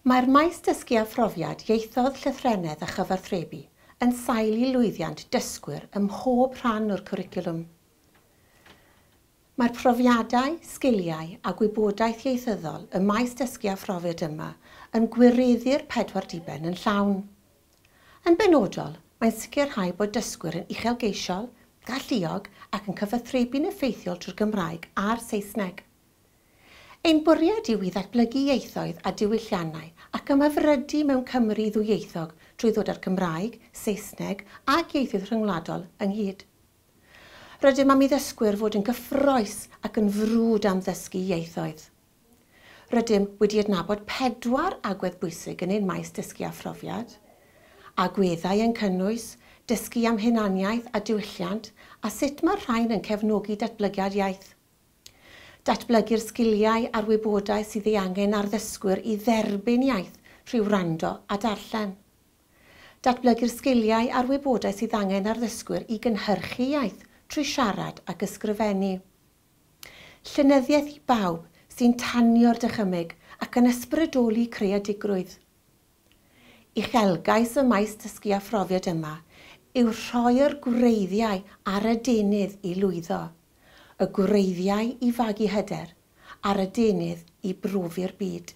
Mae'r maes dysgu a phrofiad ieithoedd llythrennedd a chyfathrebu yn sail i lwyddiant dysgwyr ym mhob rhan o'r cwricwlwm. Mae'r profiadau, sgiliau a gwybodaeth ieithyddol y maes dysgu a phrofiad yma yn gwireddu'r pedwar diben yn llawn. Yn benodol, mae'n sicrhau bod dysgwyr yn uchelgeisiol, galluog ac yn cyfathrebu'n effeithiol trwy'r Gymraeg a'r Saesneg. Ein bwriad yw i ddatblygu ieithoedd a diwylliannau ac ymhyfrydu mewn Cymru ddwyieithog trwy ddod â'r Cymraeg, Saesneg ac ieithoedd rhyngwladol ynghyd. Rydym am i ddysgwyr fod yn gyffrous ac yn frwd am ddysgu ieithoedd. Rydym wedi adnabod pedwar agwedd bwysig yn ein maes dysgu a phrofiad. Agweddau yn cynnwys dysgu am hunaniaeth a diwylliant a sut mae'r rhain yn cefnogi datblygiad iaith. Datblygu'r sgiliau a'r wybodaeth sydd ei angen ar ddysgwyr i dderbyn iaith trwy wrando a darllen. Datblygu'r sgiliau a'r wybodaeth sydd angen ar ddysgwyr i gynhyrchu iaith trwy siarad ac ysgrifennu. Llenyddiaeth i bawb sy'n tanio'r dychymyg ac yn ysbrydoli creadigrwydd. Uchelgais y maes dysgu a phrofiad yma yw rhoi'r gwreiddiau ar y deunydd i lwyddo, y gwreiddiau i fagu hyder a'r adenydd i brofi'r byd.